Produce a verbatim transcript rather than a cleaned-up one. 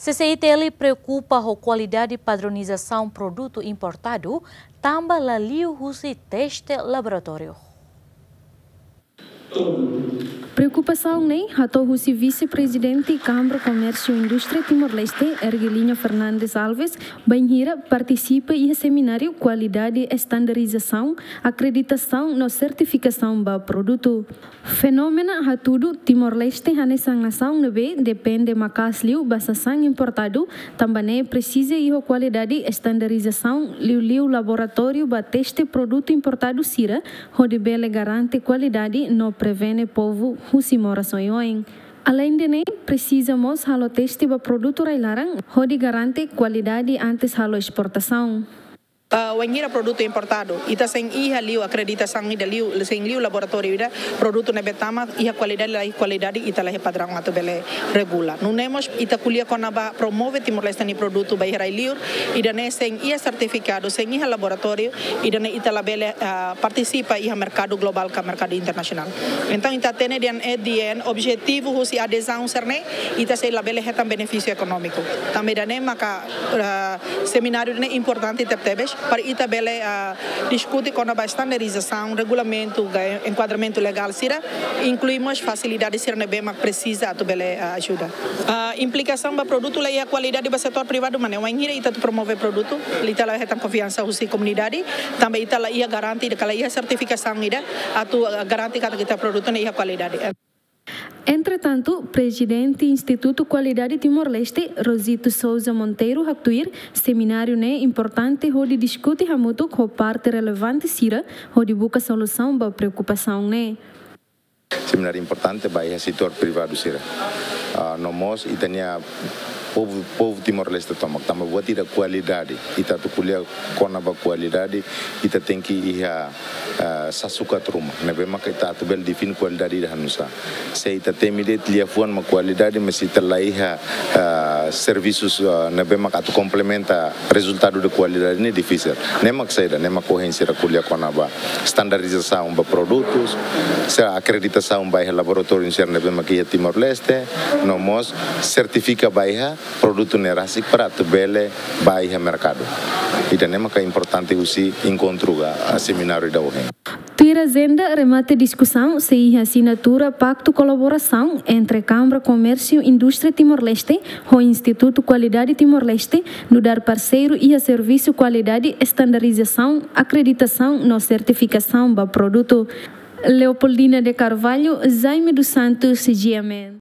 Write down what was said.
C C I T L preokupa ho kualidade padronizasaun produtu importadu, tanba la liu husi teste laboratóriu. Preokupasaun ne'e hato'o husi Vise-Prezidente Kámara Komérsiu Indústria Timor-Leste, Ergelinha Fernandes Alves, bainhira partisipa iha semináriu kualidade estandarizasaun, akreditasaun no sertifikasaun ba produtu. Fenómenu hatudu Timor-Leste hanesan nasaun ne'ebé depende maka'as liu ba sasán importadu, tanba ne'e presiza iha kualidade estandarizasaun, liuliu laboratóriu ba teste produtu importadu sira, hodi bele garante kualidade no prevene povu husi moras oioin. Aleinde ne'e, presiza mós halo teste ba produtu rai-laran, hodi garante kualidade antes halo esportasaun. Ah, wainhira produtu importadu, ita sein iha liu akreditasaun ida liu, sein liu laboratóriu ida, produtu ne'ebé tama iha kualidade, la iha kualidade, ita la iha padraun atu bele regula. Nune'e mós ita ko'alia kona-ba promove Timor-Leste nia produtu ba iha rai-liur, ida-ne'e sein iha sertifikadu, sein iha laboratóriu, ida-ne'e ita labele, ah, partisipa iha merkadu globál ka merkadu internasionál. Entaun, ita hatene dehan, eh, dehan objetivu husi adezaun sira-ne'e, ita sei labele hetan benefísiu ekonómiku. Tanba ida-ne'e maka, ah, semináriu ne'e importante tebetebes, para ita bele, ah, diskute kona-ba estandarizasaun, regulamentu, ka enkuadramentu legál sira, inklui mós fasilidade sira ne'ebé mak presiza atu bele, ah, ajuda. Ah, implikasaun ba produtu la iha kualidade ba setór privadu, maibé wainhira ita atu promove produtu, ita la hetan konfiansa husi komunidade, tanba ita la iha garante, ka la iha sertifikasaun ida atu, ah, garante katak ita produtu ne'e iha kualidade. Entretantu, Prezidente Institutu Kualidade Timor-Leste, Rosito Sousa Monteiro, haktuir, semináriu ne'e importante hodi diskute hamutuk ho parte relevante sira, hodi buka solusaun ba preokupasaun ne'e. Semináriu importante ba iha setór privadu sira. Ah, no mós ita-nia povu, povu Timor-Leste tomak, tanba buat ida kualidade, ita atu ko'alia kona-ba kualidade, ita tenke iha, ah, sasukat ruma. Ne'ebé maka ita atu bele define kualidade ida hanesan. Se ita temi de'it liafuan mak kualidade, mas ita la iha, ah, servisus, ah, ne'ebé maka atu komplementa rezultadu de kualidade ne'e difisil. Ne'e mak saida, ne'e mak ohin sira ko'alia kona-ba estandarizasaun ba produtus, sira akreditasaun ba iha laboratóriu sira ne'ebé mak iha Timor-Leste, no mós sertifika ba iha produtu ne'e rasik para atu bele ba iha merkadu. Ida-ne'e maka importante husi enkontru ka, ah, semináriu ida ohin. Tuir ajenda remate diskusaun, sei iha asinatura paktu kolaborasaun entre Kámara Komérsiu Indústria Timor-Leste ho Institutu Kualidade Timor-Leste, nu'udar parseiru iha servisu kualidade, estandarizasaun, akreditasaun no sertifikasaun ba produtu. Leopoldina de Carvalho, Jaime dos Santos, G M N.